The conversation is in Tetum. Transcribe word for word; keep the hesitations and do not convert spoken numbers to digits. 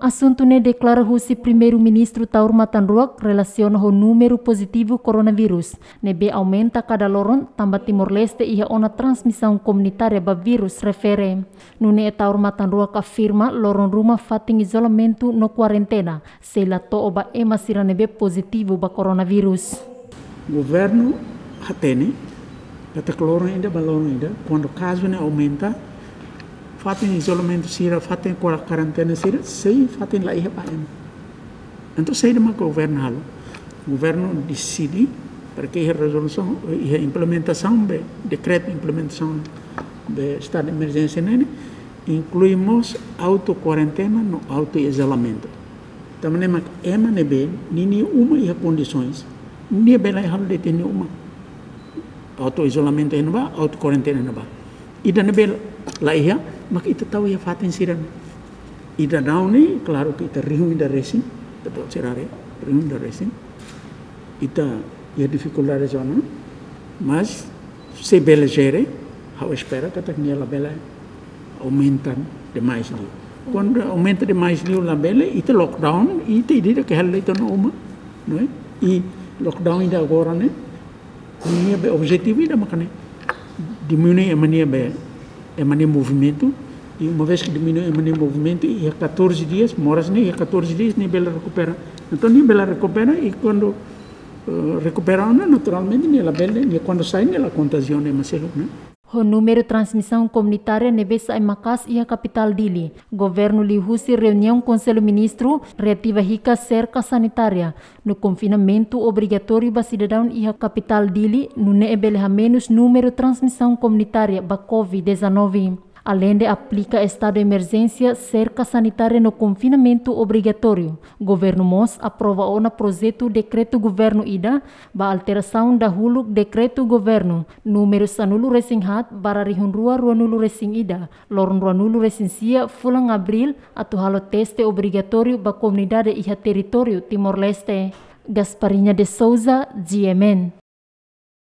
Asuntu ne'e deklara husi Primeiru-Ministru Taur Matan Ruak relasiona ho númeru pozitivu koronavírus ne'ebé aumenta kada loron, tanba Timor-Leste iha ona transmisaun komunitária ba vírus refere. Nune'e Taur Matan Ruak afirma loron ruma fatin izolamentu no kuarentena sei la to'o ba ema sira ne'ebé pozitivu ba koronavírus. Governu hatene katak loron ida ba loron ida, kuandu kazu ne'e aumenta, fatin izolamentu sira, fatin kuarentena sira sei fatin la iha ba ema. Entaun saida mak governu halo? Governu deside para ke iha rezolusaun, iha implementasaun be dekretu implementasaun be estadu de emerjénsia ne'e, inklui mós auto kuarentena no auto izolamentu. Tanba ne'e mak ema ne'ebé ninia uma iha kondisoens, nia bele halo de'it iha nia uma. Auto izolamentu iha ne'ebá, auto kuarentena iha ne'ebá. Ida ne'ebé la iha, mak ita tau iha fatin sira ne'e. Ida daudaun ne'e, klaru ke ita rihun ida resin, ita-boot sira haree, rihun ida resin. Ita iha difikuldade zona, mas se bele jere, ha'u espera katak nia labele aumenta demais liu. Kuandu aumenta demais liu labele, ita lockdown, ita ida-idak hela de'it ona uma, não é? I lockdown ida agora ne'e, nia be objetivu ida mak ne'e, diminui ema nia be, ema nia movimentu, i uma vez ke diminui ema nia movimentu, iha catorze dias, moras ne'e iha catorze dias, nia bele rekupera. Entaun nia bele rekupera, i kuandu, eh, rekupera ona, naturalmente, nia labele, nia kuandu sai, nia la kontajia ona ema seluk, né? Ho númeru transmisaun komunitária ne'ebé sa'e maka'as iha kapitál Dili, governu liuhusi reuniaun Konsellu Ministru reativa hikas serka sanitária no konfinamentu obrigatóriu ba sidadaun iha kapitál Dili, nune'e bele hamenus númeru transmisaun komunitária ba covid dezanove. Aleinde aplika estadu emerjénsia, serka sanitária no konfinamentu obrigatóriu, governu mós aprova ona projetu dekretu governu ida ba alterasaun dahuluk dekretu governu númeru sanulu-resin-haat barra rihun rua ruanulu-resin-ida, loron ruanulu-resin-sia fulan Abríl, atu halo teste obrigatóriu ba komunidade iha territóriu Timor-Leste. Gasparinha de Souza, G M N.